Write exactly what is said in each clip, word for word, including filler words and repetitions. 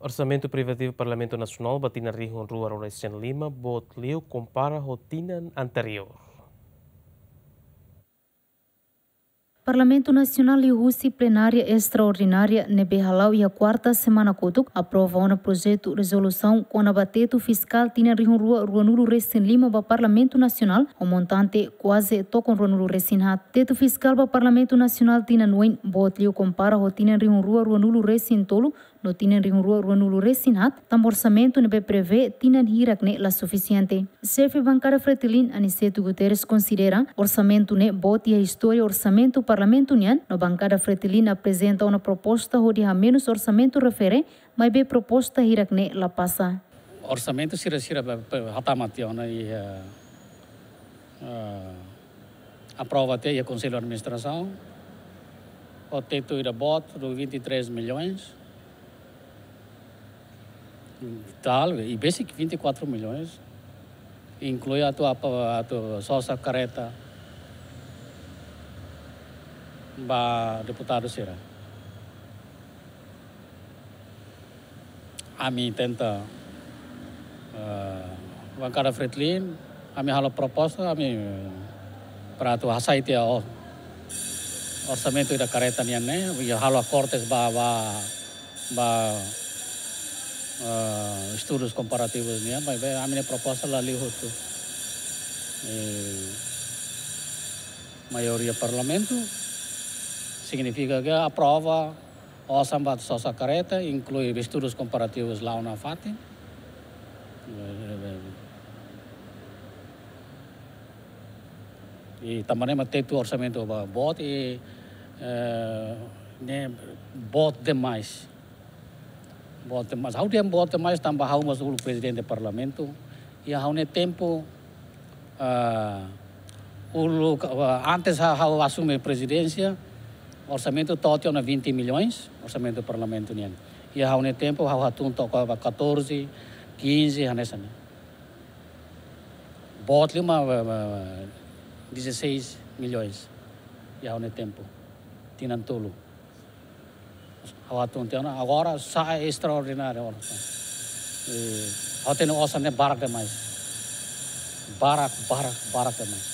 Orsamentu privativu Parlamentu Nasionál ba tinan rihun rua ruanulu-resin-lima boot liu kompara ho tinan anteriór. Parlamentu Nasionál liuhusi plenária estraordinária ne'ebé hala'o iha kuarta semana kotuk aprova ona projetu rezolusaun kona-ba tetu fiskál tinan rihun rua ruanulu-resin-lima ba Parlamentu Nasionál ho montante kuaze tokon ruanulu-resin-haat. Tetu fiskál ba Parlamentu Nasionál tinan oin boot liu kompara ho tinan rihun rua ruanulu-resin-tolu no tinan rihun rua ruanulu-resin-haat, tanba orsamentu ne'ebé prevee tinan hirak ne'e la sufisiente. Xefe bankada Fretilin, Aniceto Guterres, konsidera orsamentu ne'e boot iha istória orsamentu Parlamentu nian, no bankada Fretilin aprezenta ona proposta hodi hamenus orsamentu refere, maibé proposta hirak ne'e la pasa. Orsamentu sira-sira be, be, hatama tiha ona iha, eh, aprova tiha iha Konsellu Administrasaun, ho tetu ida boot do vinte e três milhões tal, e besik vinte e quatro milhões, inklui atu apa, atu sosa kareta ba deputadu sira. Ami tenta, eh, bankada Fretilin, ami halo proposta, ami, eh, para atu hasai tiha o-, orsamentu ida kareta nian ne'e, i halo akortes ba, ba, ba, eh, estudus komparativus nian, maibé ami-nia proposta la liu hotu. Eh, maioria Parlamentu, signifika ke aprova osan ba sosa kareta, inklui estudus komparativus la'o nafatin. I tanba ne'e mak tetu orsamentu ba boot i, eh, ne'e boot demais. Boot demais. Ha'u dehan boot demais tanba ha'u mós uluk prezidente Parlamentu. I ha'u-nia tempu, ah, uluk, ah, antes ha-, ha'u asume prezidénsia, orsamentu to'o tiha ona vinte milhões, orsamentu Parlamentu nian. I ha'u-nia tempu, ha'u hatún to'o ba catorze, quinze, hanesan ne'e. Boot liu mak, ba, ba, dezasseis milhões. I ha'u-nia tempu. Tinan tolu. Ha'u hatún tiha ona, agora sa'e estraordináriu ona. Eh, ha'u hatene osan ne'e barak demais. Barak, barak, barak demais.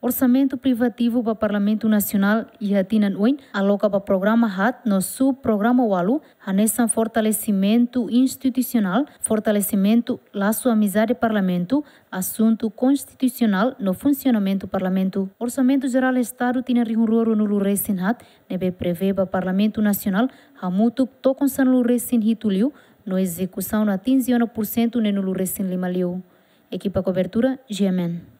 Orsamentu privativu ba Parlamentu Nasionál iha tinan oin aloka ba programa haat no subprograma ualu, hanesan fortalesimentu institusionál, fortalesimentu lasu amizade Parlamentu, asuntu konstitusionál no funsionamentu Parlamentu. Orsamentu Jerál Estadu tinan rihun rua ruanulu-resin-haat ne'ebé prevee ba Parlamentu Nasionál hamutuk tokon sanulu-resin-hitu liu, no ezekusaun atinje ona pursentu neenulu-resin-lima liu. Ekipa kobertura, G M N.